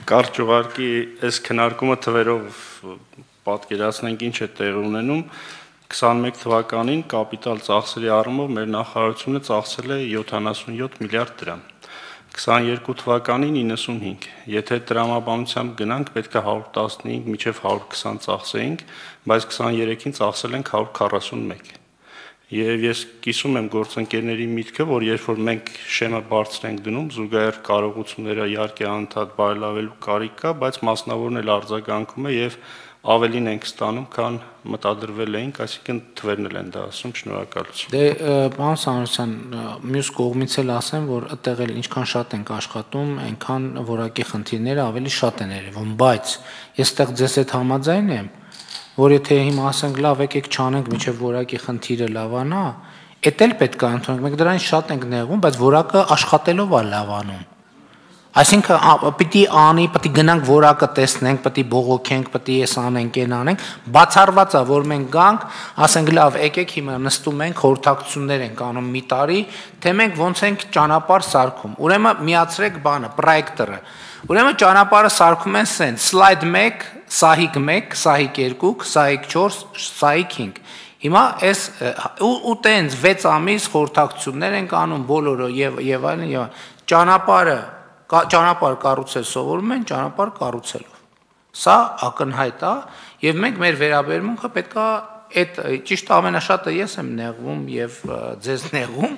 Կարճ ուղարկի այս քննարկումը թվերով պատկերացնենք ինչ է տեղի ունենում 21 թվականին կապիտալ ծախսերի առումով մեր նախարարությունը ծախսել է 77 միլիարդ դրամ 22 թվականին 95 եթե տրամաբանությամբ գնանք պետք է 115 մինչև 120 ծախսեինք բայց 23-ին ծախսել ենք 141 Եվ ես կիսում եմ գործընկերների միտքը, որ երբ որ մենք շեմը բարձր ենք դնում, զուգահեռ կարողությունները իհարկե անընդհատ բարելավելու կարիք կա, բայց մասնավորն էլ արձագանքում է եւ ավելին ենք ստանում, քան մտադրվել էինք, այսինքն թվերն էլ են դա ասում, շնորհակալություն։ Դե պարոն Սանոսյան, մյուս կողմից էլ ասեմ, որ այդտեղ էլ ինչքան շատ ենք աշխատում, այնքան որակի խնդիրները ավելի շատ են երևում, բայց ես այդտեղ ձեզ հետ համաձայն եմ, որ եթե հիմա ասենք լավ եկեք չանենք միջև որակի խնդիրը լավանա, էդ էլ պետք է ընդունենք, մենք դրանից շատ ենք նեղվում, բայց որակը աշխատելով է լավանում։ Այսինքն պիտի անի, պիտի գնանք որակը տեսնենք, պիտի բողոքենք, պիտի էս անենք, այն անենք, բացառված է, որ մենք գանք, ասենք լավ եկեք հիմա նստում ենք, խորհրդակցություններ ենք անում մի տարի, թե մենք ոնց ենք ճանապարհ սարքում։ Ուրեմն միացրեք բանը, պրոյեկտորը։ Ուրեմն ճանապարհը սարքում են սենց, սլայդ 1 Սահիկ 1, Սահիկ 2, Սահիկ 4, Սահիկ 5։ Հիմա այս ու տենց 6 ամիս խորհրդակցություններ ենք անում բոլորը եւ այլն ճանապարհ կառուցել սովորում են ճանապարհ կառուցելով։ Սա ակնհայտ է եւ մենք մեր վերաբերմունքը պետքա այդ ճիշտ ամենաշատը ես եմ նեղվում եւ ձեզ նեղվում,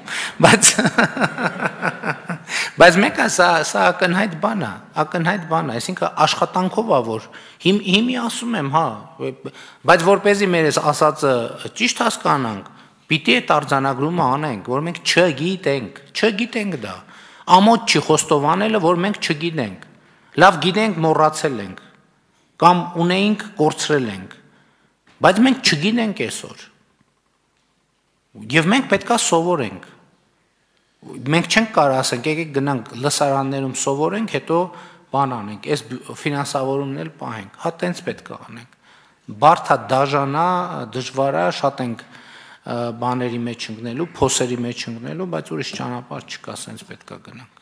բայց մեկը սա ակնհայտ բան է, այսինքն աշխատանքով է որ հիմի ասում եմ, հա, բայց որպեսզի մեր այս ասածը ճիշտ հասկանանք, պիտի այդ արձանագրումը անենք, որ մենք չգիտենք դա, ամոթ չի խոստովանելը, որ մենք չգիտենք, լավ գիտենք մոռացել ենք, կամ ունեինք կորցրել ենք, բայց մենք չգիտենք այսօր, և մենք պետք է սովորենք, մենք չենք կարող ասենք, եկեք գնանք լսարաններում սովորենք, հետո բան անենք, այս ֆինանսավորումն էլ պահենք, հա տենց պետք է անենք, բարդ է, դաժան է, դժվար է, շատ ենք բաների մեջ ընկնելու, փոսերի մեջ ընկնելու, բայց ուրիշ ճանապարհ չկա, սենց պետք է գնանք։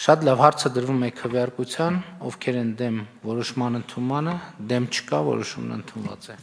Շատ լավ հարցը դրվում է քվեարկության, ովքեր են դեմ որոշման ընդունմանը, դեմ չկա, որոշումն ընդունված է։